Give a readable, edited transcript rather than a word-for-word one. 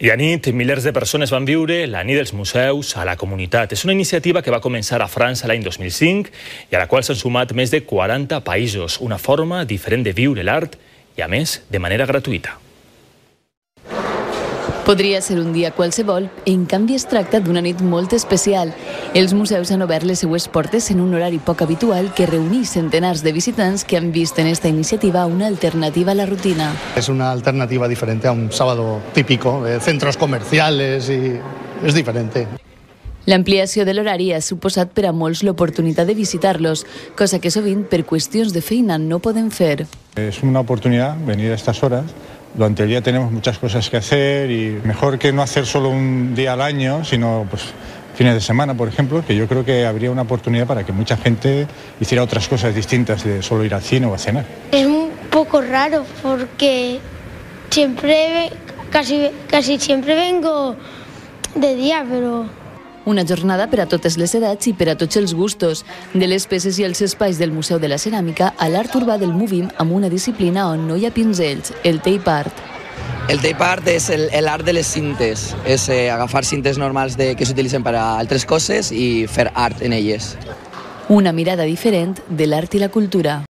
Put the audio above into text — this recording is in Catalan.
I a nit, milers de persones van viure la nit dels museus a la comunitat. És una iniciativa que va començar a França l'any 2005 i a la qual s'han sumat més de 40 països. Una forma diferent de viure l'art i, a més, de manera gratuïta. Podria ser un dia qualsevol, en canvi es tracta d'una nit molt especial. Els museus han obert les seues portes en un horari poc habitual que reuneix centenars de visitants que han vist en esta iniciativa una alternativa a la rutina. Es una alternativa diferente a un sábado típico de centros comerciales y es diferente. L'ampliació de l'horari ha suposat per a molts l'oportunitat de visitar-los, cosa que sovint per qüestions de feina no poden fer. Es una oportunidad venir a estas horas. Durante el día tenemos muchas cosas que hacer y mejor que no hacer solo un día al año, sino pues fines de semana, por ejemplo, que yo creo que habría una oportunidad para que mucha gente hiciera otras cosas distintas de solo ir al cine o a cenar. Es un poco raro porque casi siempre vengo de día, pero... Una jornada per a totes les edats i per a tots els gustos. De les peces i els espais del Museu de la Ceràmica a l'art urbà del Movim amb una disciplina on no hi ha pinzells, el tape art. El tape art és l'art de les cintes. És agafar cintes normals que s'utilitzen per a altres coses i fer art en elles. Una mirada diferent de l'art i la cultura.